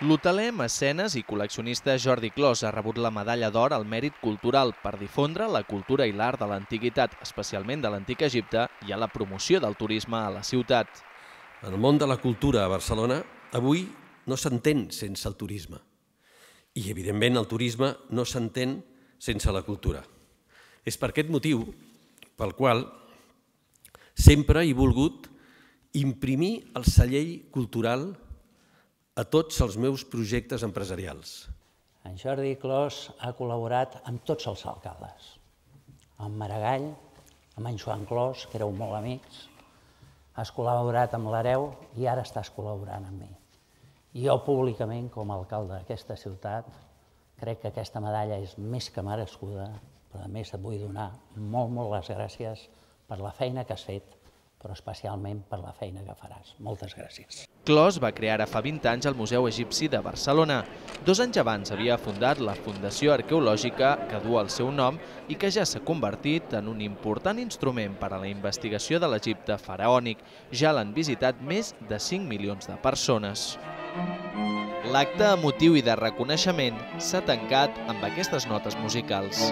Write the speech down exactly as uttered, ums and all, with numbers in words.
L'hoteler, mecenes i col·leccionista Jordi Clos ha rebut la medalla d'or al mèrit cultural per difondre la cultura i l'art de l'antiguitat, especialment de l'antic Egipte, i a la promoció del turisme a la ciutat. El món de la cultura a Barcelona avui no s'entén sense el turisme. I, evidentment, el turisme no s'entén sense la cultura. És per aquest motiu pel qual sempre he volgut imprimir el cellell cultural a tots els meus projectes empresarials. En Jordi Clos ha col·laborat amb tots els alcaldes, amb Maragall, amb en Joan Clos, que éreu molt amics, has col·laborat amb l'Hereu i ara estàs col·laborant amb mi. I jo públicament, com a alcalde d'aquesta ciutat, crec que aquesta medalla és més que merescuda, però a més et vull donar molt, molt les gràcies per la feina que has fet, però especialment per la feina que faràs. Moltes gràcies. Clos va crear ara fa vint anys el Museu Egipci de Barcelona. Dos anys abans havia fundat la Fundació Arqueològica, que du el seu nom i que ja s'ha convertit en un important instrument per a la investigació de l'Egipte faraònic. Ja l'han visitat més de cinc milions de persones. L'acte emotiu i de reconeixement s'ha tancat amb aquestes notes musicals.